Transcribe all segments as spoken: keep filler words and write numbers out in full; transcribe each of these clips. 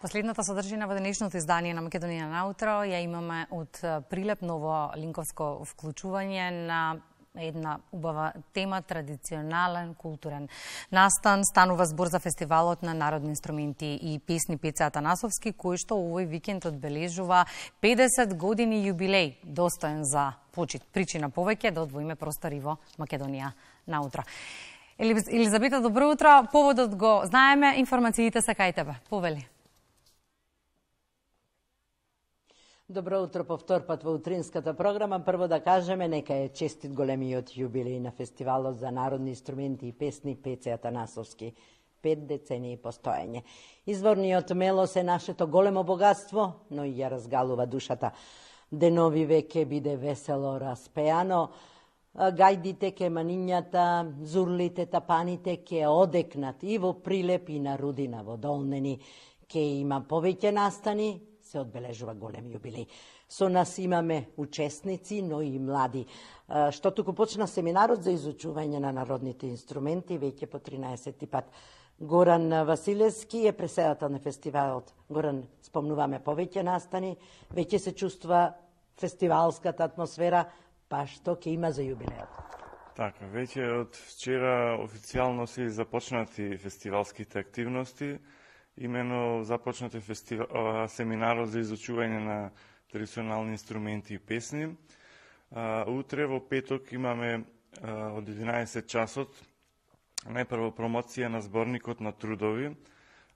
Последната содржина во денешното издание на Македонија на утро ја имаме од Прилеп, ново линковско вклучување на една убава тема, традиционален културен настан. Станува збор за фестивалот на народни инструменти и песни Пеце Атанасовски, кој што овој викенд одбележува педесет години јубилеј, достоен за почит. Причина повеќе да одвоиме простори во Македонија на утро. Елизабета, добро утро. Поводот го знаеме, информациите се кај тебе. Повели. Добро утро по втор пат во утринската програма. Прво да кажеме, нека е честит големиот јубилеј на фестивалот за народни инструменти и песни Пеце Атанасовски. Пет децении постоење. Изворниот мелос е нашето големо богатство, но и ја разгалува душата. Денови веќе биде весело распеано. Гајдите ке манињата, зурлите, тапаните ке одекнат и во Прилеп и на Рудина во Долнени. Ке има повеќе настани, се одбележува голем јубилеј. Со нас имаме учесници, но и млади. Што туку почна семинарот за изучување на народните инструменти, веќе по тринаесети пат. Горан Василевски е преседател на фестивалот. Горан, спомнуваме повеќе настани, веќе се чувствува фестивалската атмосфера, па што ќе има за јубилејот? Така, веќе од вчера официјално се започнати фестивалските активности. Имено започнате фестивал, семинарот за изучување на традиционални инструменти и песни. Утре во петок имаме од единаесет часот најпрво промоција на зборникот на трудови,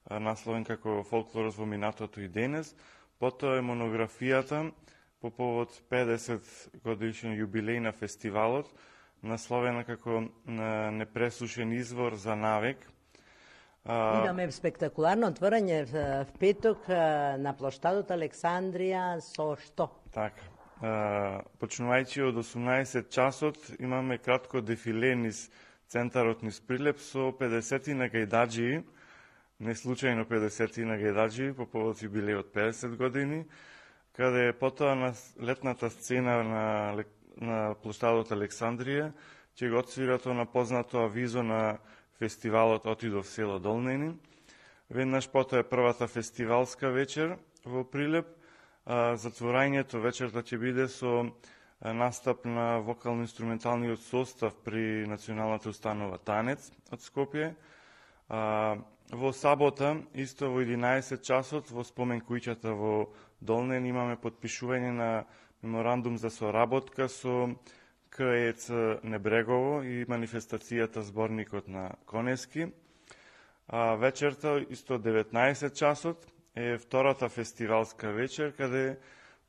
насловен како Фолклорот во минатото и денес. Потоа е монографијата по повод педесет годишен јубилеј на фестивалот, насловена како Непресушен извор за навек. Имаме спектакуларно отворање в петок на плоштадот Александрија со што? Така. Почнувајќи од осумнаесет часот имаме кратко дефиле низ центарот низ Прилеп со педесетина гајдаџии, не случајно педесетина гајдаџии по повод јубилејот педесет години, каде потоа на летната сцена на, на плоштадот Александрија ќе го отсвира тоа на познато авизо на фестивалот Отидов село Долнени. Веднаш потоа е првата фестивалска вечер во Прилеп. Затворањето вечерта ќе биде со настап на вокално-инструменталниот состав при Националната установа Танец од Скопје. Во сабота, исто во единаесет часот, во спомен куќата во Долнени имаме подпишување на меморандум за соработка со КЕЦ Небрегово и манифестацијата Зборникот на Конески. А вечерта, исто деветнаесет часот, е втората фестивалска вечер, каде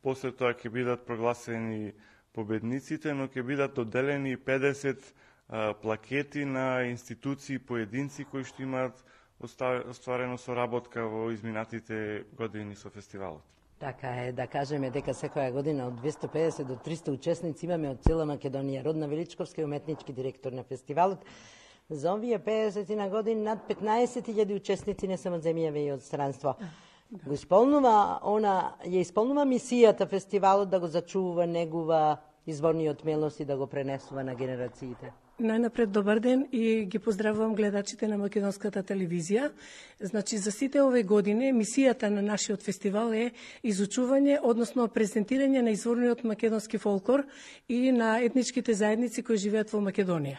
после тоа ќе бидат прогласени победниците, но ќе бидат доделени педесет а, плакети на институции и поединци кои што имаат остварено соработка во изминатите години со фестивалот. Така е, да кажеме дека секоја година од двесте педесет до триста учесници имаме од цела Македонија. Родна Величковска е уметнички директор на фестивалот. За овие педесетина години над петнаесет илјади учесници не само од земјава и од странство. Го исполнува она, ја исполнува мисијата фестивалот да го зачува, негува изворниот мелос и да го пренесува на генерациите. Најнапред добар ден и ги поздравувам гледачите на македонската телевизија. Значи, за сите овие години мисијата на нашиот фестивал е изучување, односно презентирање на изворниот македонски фолклор и на етничките заедници кои живеат во Македонија.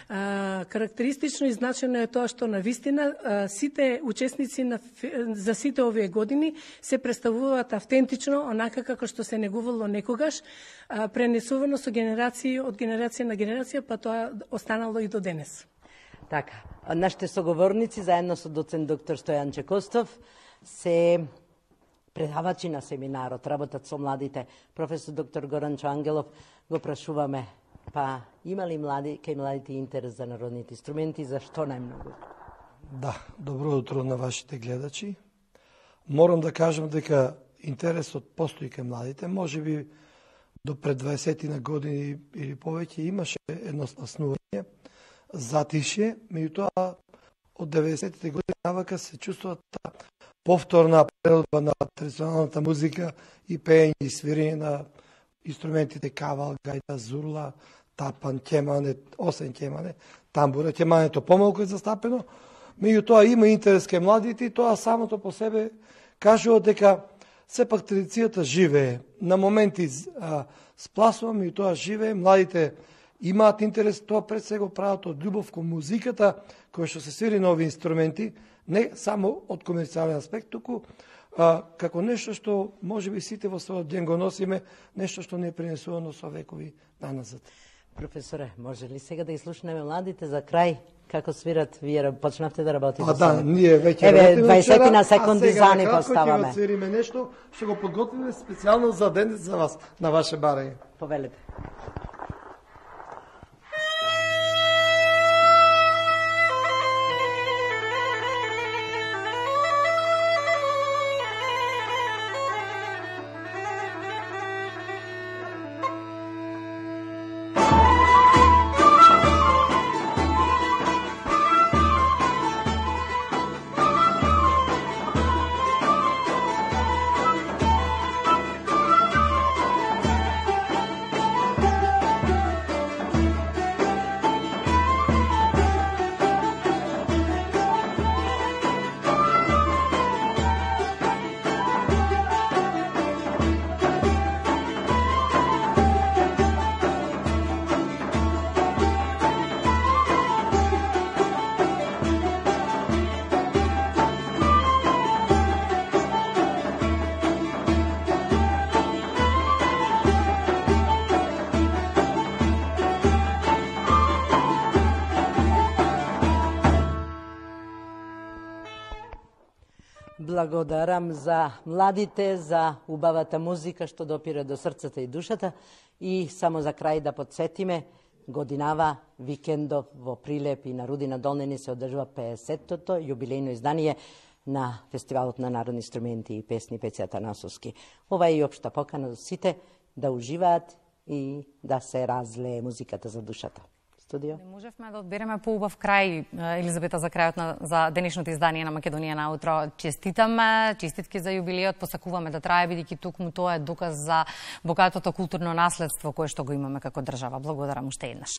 А, карактеристично и значено е тоа што на вистина а, сите учесници на, за сите овие години се представуваат автентично, онака како што се негувало некогаш, а, пренесувано со генерации од генерација на генерација, па тоа останало и до денес. Така, нашите соговорници заедно со доцент доктор Стојан Чекостов се предавачи на семинарот, работат со младите. Професор доктор Горан Чоангелов го прашуваме, па има ли млади, кај младите интерес за народните инструменти, зашто најмногу? Да, добро утро на вашите гледачи. Морам да кажам дека интересот постои кај младите, може би до пред дваесет години или повеќе имаше едно спаснување, затише, меѓутоа од деветдесетите години навака се чувствува таа повторна прелодба на традиционалната музика и пеење и свирење на инструментите кавал, гајда, зурла, тапан, ќемане, осен ќемане, тамбура. Ќемането помалку е застапено, меѓутоа има интерес кај младите и тоа самото по себе кажува дека сепак традицијата живее. На моменти а, спласува, меѓутоа живее, младите имаат интерес, тоа пред се го прават од љубов кон музиката, која што се свири на овие инструменти, не само од комерцијален аспект, туку а, како нешто што можеби сите во својот ден го носиме, нешто што не е пренесувано со векови наназад. Професоре, може ли сега да изслушнеме младите за крај како свират? Вие почнавте да работите. А да, ние веќе Еве, работиме дваесет на а секунди сега за ни накратко поставаме. ќе го свириме нешто, што го подготвиме специјално за ден за вас, на ваше барање. Повелете. Благодарам за младите, за убавата музика што допира до срцата и душата. И само за крај да подсетиме, годинава викендов во Прилеп и на Рудина Долнени се одржува пеесеттото јубилејно издание на Фестивалот на народни инструменти и песни Пеце Атанасовски. Ова е и општа покана за сите да уживаат и да се разлее музиката за душата. Студио. Не можевме да одбереме поубав крај, Елизабета, за крајот на за денешното издание на Македонија на утро. Честитаме, честитки за јубилејот, посакуваме да трае, бидејќи токму тоа е доказ за богатото културно наследство кое што го имаме како држава. Благодарам уште еднаш.